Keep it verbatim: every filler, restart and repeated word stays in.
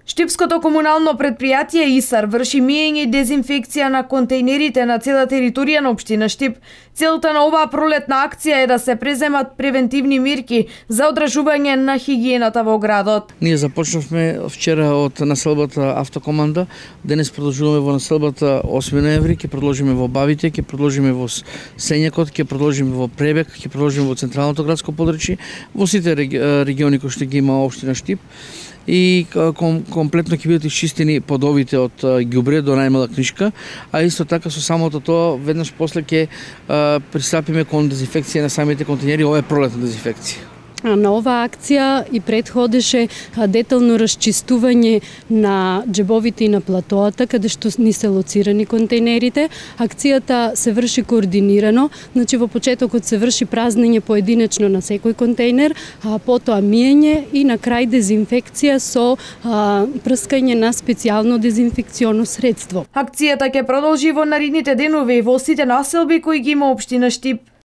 Штипското комунално предпријатие ИСАР врши миење и дезинфекција на контејнерите на цела територија на општина Штип. Целта на оваа пролетна акција е да се преземат превентивни мерки за одржување на хигиената во градот. Ние започнавме вчера од населбата Автокоманда, денес продолжуваме во населбата осми ноември, ќе продолжиме во Бабите, ќе продолжиме во Сењакот, ќе продолжиме во Пребек, ќе продолжиме во централното градско подрачје, во сите региони кои што ги има општина Штип. И ком, комплетно ќе бидат исчистени подовите од ѓубре до најмала книшка, а исто така со самото тоа веднаш после ќе пристапиме кон дезинфекција на самите контејнери, ова е пролетна дезинфекција. На оваа акција и предходеше детално расчистување на џебовите и на платоата, каде што ни се лоцирани контејнерите. Акцијата се врши координирано, значи во почетокот се врши празнење поединечно на секој контејнер, а потоа миење и на крај дезинфекција со а, прскање на специјално дезинфекционо средство. Акцијата ќе продолжи во наредните денови во сите населби кои ги има општина Штип.